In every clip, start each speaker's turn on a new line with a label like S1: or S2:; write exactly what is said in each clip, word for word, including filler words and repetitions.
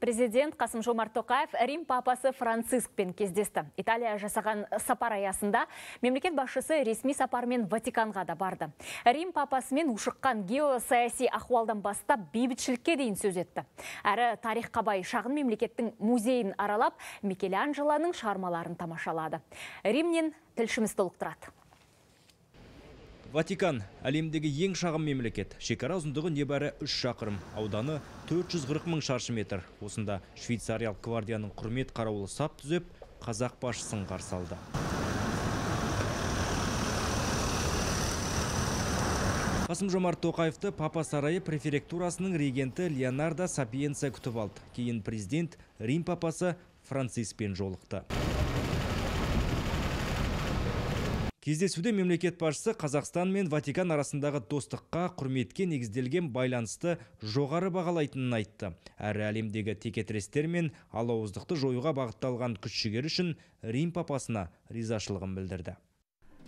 S1: Президент Қасым-Жомарт Тоқаев Рим папасы Францискпен кездесті. Италия жасаған сапар аясында мемлекет басшысы ресми сапармен Ватиканға да барды. Рим папасымен ушыққан геосаяси ахуалдан бастап бейбітшілікке дейін сөз етті. Әрі тарихқа бай шағын мемлекеттің музейін аралап, Микеланджелоның шығармаларын тамашалады. Римнен тілшіміз толықтырады.
S2: Ватикан – әлемдегі ең шағын мемлекет. Шекара ұзындығы небәрі үш шақырым, ауданы төрт жүз қырық мың шаршы метр. Осында швейцариялық гвардияның құрмет қарауылы сап түзеп, қазақ басшысын қарсы алды. Қасым-Жомарт Тоқаевты Папа сарайы префектурасының регенті Леонардо Сапиенца күтіп алды. Кейін президент Рим папасы Франциспен жолықты. Кездесуде мемлекет басшысы Қазақстан мен Ватикан арасындағы достыққа, құрметке негізделген байланысты жоғары бағалайтынын айтты. Әрі әлемдегі текетірестер мен алауыздықты жоюға бағытталған күш-жігері үшін Рим папасына ризашылығын білдірді.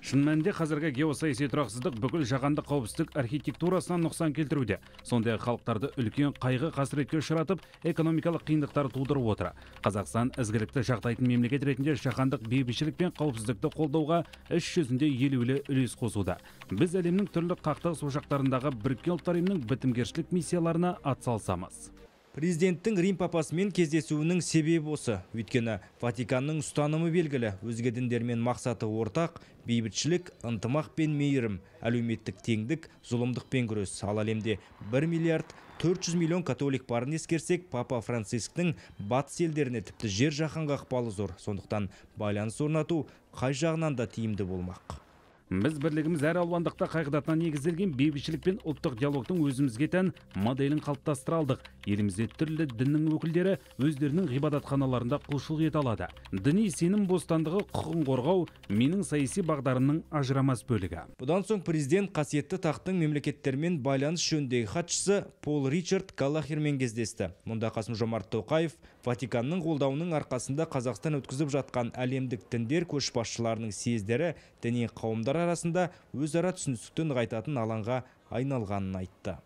S3: Шын мәнінде қазіргі геосаяси тұрақсыздық бүкіл жаһандық қауіпсіздік архитектурасынан нұқсан келтіруде. Сондай халықтарды үлкен қайғы қасіретке ұшыратып, экономикалық қиындықтар тудырып отыр. Қазақстан ізгілікті жақтайтын мемлекет ретінде жаһандық бейбітшілік пен қауіпсіздікті қолдауға іс жүзінде елеулі үлес қосуда. Біз әлемнің түрлі қақтығыс ошақтарындағы Біріккен ұлттар ұйымының бітімгершілік миссияларына атсалысамыз.
S2: Президенттің Рим папасымен кездесуінің себебі осы. Өйткені Ватиканның ұстанымы белгілі, өзге діндермен мақсаты ортақ, бейбітшілік, ынтымақ пен мейірім, әлеуметтік теңдік, зұлымдық пен күрес. Ал әлемде бір миллиард төрт жүз миллион католик барын ескерсек, Папа Францисктің батыс елдеріне тіпті жер жаһанға ықпалы зор. Сондықтан байланыс орнату қай жағынан да тиімді болмақ.
S3: Біз бірлігіміз әр алуандықта қағидатына негізделген бейбітшілік пен ұлттық диалогтың өзімізге тән моделін қалыптастыра алдық. Елімізде түрлі діннің өкілдері өздерінің ғибадатханаларында құлшылық ете алады. Діни сенім бостандығы, құқығын қорғау менің саяси бағдарымның ажырамас бөлігі.
S2: Бұдан соң президент қасиетті тақтың мемлекеттермен байланыс жөніндегі хатшысы Пол Ричард Галлахермен кездесті. Мұнда Қасым-Жомарт Тоқаев Ватиканның қолдауының арқасында Қазақстан өткізіп жатқан әлемдік діндер көшбасшыларының съездері діни қауымдар арасында өзара түсіністікті нығайтатын алаңға айналғанын айтты.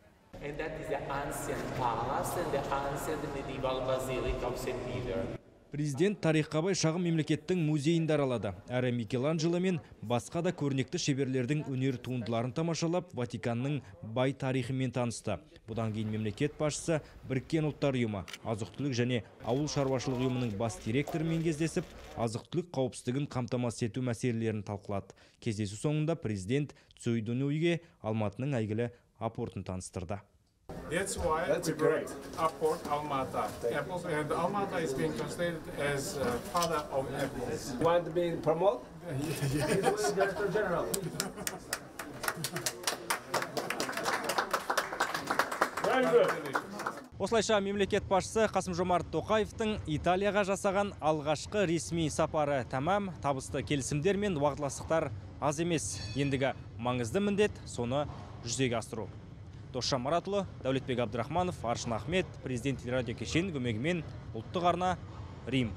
S2: Президент тарихқа бай шағын мемлекеттің музейінде аралады. Әрі Микеланджело мен басқа да көрнекті шеберлердің өнер туындыларын тамашалап, Ватиканның бай тарихымен танысты. Бұдан кейін мемлекет басшысы Біріккен ұлттар ұйымы, азық-түлік және ауыл шаруашылық ұйымының бас директорымен кездесіп, азық-түлік қауіпсіздігін қамтамасыз ету мәселелерін талқылады. Кездесу соңында президент Цюйдунуйге Алматының әйгілі апортын таныстырды.
S4: That's why That's we brought Apport Almata. Apples, and Almata is being translated as uh, father of apples.
S5: You want to be promoted?
S4: Yes.
S5: Director General.
S4: Very good.
S2: Осылайша мемлекет басшысы Қасым-Жомарт Тоқаевтың Италияға жасаған алғашқы ресми сапары тәмам, табысты келісімдер мен уағдаластықтар аз емес. Ендігі маңызды міндет соны жүзеге асыру. Досжан Маратұлы, Дәулетбек Абдрахманов, Аршын Ахмет, президент телерадио кешенінің көмегімен ұлттық арна, Рим.